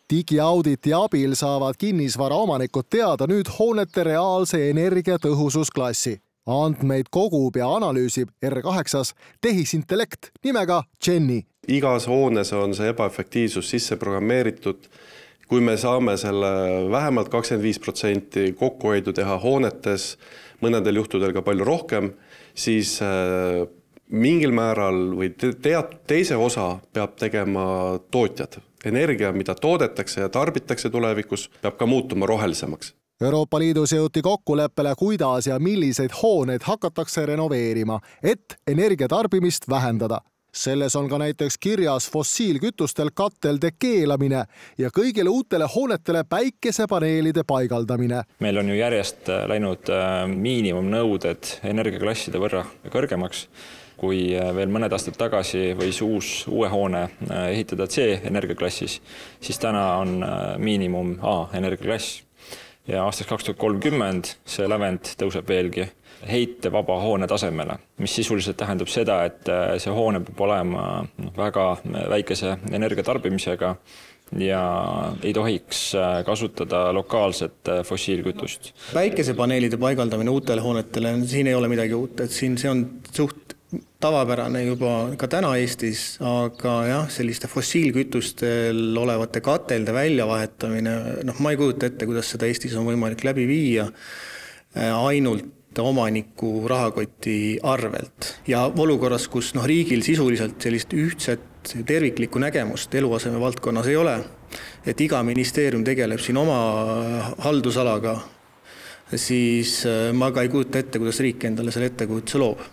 Digiauditi abil saavad kinnisvara omanikud teada nüüd hoonete reaalse energiatõhususklassi. Andmeid kogub ja analüüsib R8 tehisintellekt nimega Jenny. Igas hoones on see ebaefektiivsus sisse programmeeritud. Kui me saame selle vähemalt 25% kokkuhoidu teha hoonetes, mõnedel juhtudel ka palju rohkem, siis mingil määral või teise osa peab tegema tootjad. Energia, mida toodetakse ja tarbitakse tulevikus, peab ka muutuma rohelisemaks. Euroopa Liidus jõuti kokkuleppele, kuidas ja milliseid hooneid hakatakse renoveerima, et energiatarbimist vähendada. Selles on ka näiteks kirjas fossiilkütustel katelde keelamine ja kõigile uutele hoonetele päikesepaneelide paigaldamine. Meil on ju järjest läinud miinimumnõuded energiaklasside võrra kõrgemaks. Kui veel mõned aastad tagasi võis uue hoone ehitada C-energiaklassis, siis täna on miinimum A-energiaklass. Ja aastaks 2030 see lävend tõuseb veelgi heitevaba hoone tasemele, mis sisuliselt tähendab seda, et see hoone peab olema väga väikese energiatarbimisega ja ei tohiks kasutada lokaalset fossiilkütust. Päikesepaneelide paigaldamine uutele hoonetele, siin ei ole midagi uut, et siin see on suht tavapärane juba ka täna Eestis, aga jah, selliste fossiilkütustel olevate katelde väljavahetamine, ma ei kujuta ette, kuidas seda Eestis on võimalik läbi viia ainult omaniku rahakoti arvelt. Ja olukorras, kus riigil sisuliselt sellist ühtset terviklikku nägemust eluaseme valdkonnas ei ole, et iga ministeerium tegeleb siin oma haldusalaga, siis ma ka ei kujuta ette, kuidas riik endale selle ettekujutuse loob.